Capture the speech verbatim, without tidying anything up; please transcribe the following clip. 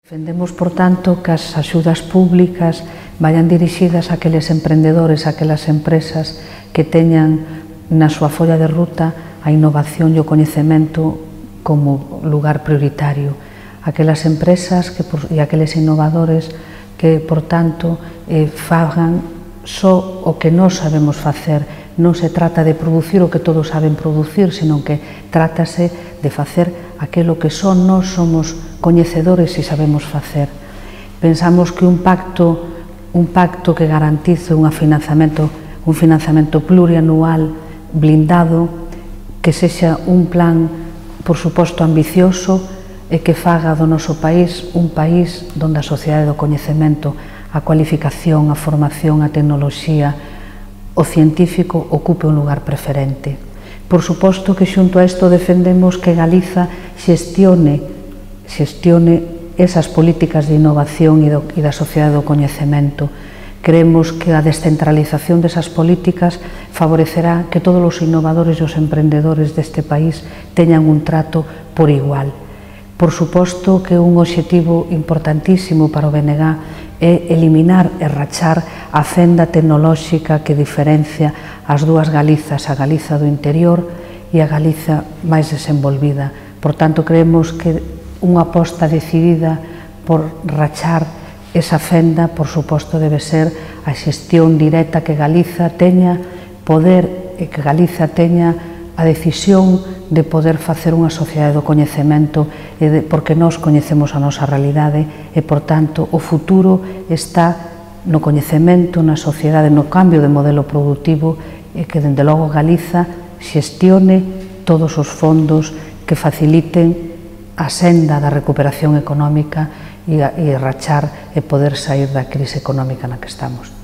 Defendemos, por tanto, que as axudas públicas vayan dirixidas a aqueles emprendedores, a aquelas empresas que teñan na súa folla de ruta a innovación e o coñecemento como lugar prioritario. Aquelas empresas que, e aqueles innovadores que, por tanto, eh, fagan só o que nós sabemos facer. Non se trata de producir o que todos saben producir, senón que trátase de facer aquilo que só nós somos coñecedores e sabemos facer. Pensamos que un pacto, un pacto que garantice un financiamento, un financiamento plurianual blindado, que sexa un plan, por suposto, ambicioso e que faga do noso país un país onde a sociedade do coñecemento, a cualificación, a formación, a tecnoloxía, o científico ocupe un lugar preferente. Por suposto que xunto a isto defendemos que Galiza xestione, xestione esas políticas de innovación e, do, e da sociedade do coñecemento. Creemos que a descentralización desas políticas favorecerá que todos os innovadores e os emprendedores deste país teñan un trato por igual. Por suposto que un obxectivo importantísimo para o B N G é eliminar e rachar a fenda tecnolóxica que diferencia as dúas Galizas, a Galiza do interior e a Galiza máis desenvolvida. Por tanto, creemos que unha aposta decidida por rachar esa fenda, por suposto, debe ser a xestión directa que Galiza teña poder e que Galiza teña a decisión de poder facer unha sociedade do coñecemento porque nós coñecemos a nosa realidade e, por tanto, o futuro está no coñecemento, na sociedade, no cambio de modelo productivo e que, dende logo, Galiza xestione todos os fondos que faciliten a senda da recuperación económica e rachar e poder sair da crise económica na que estamos.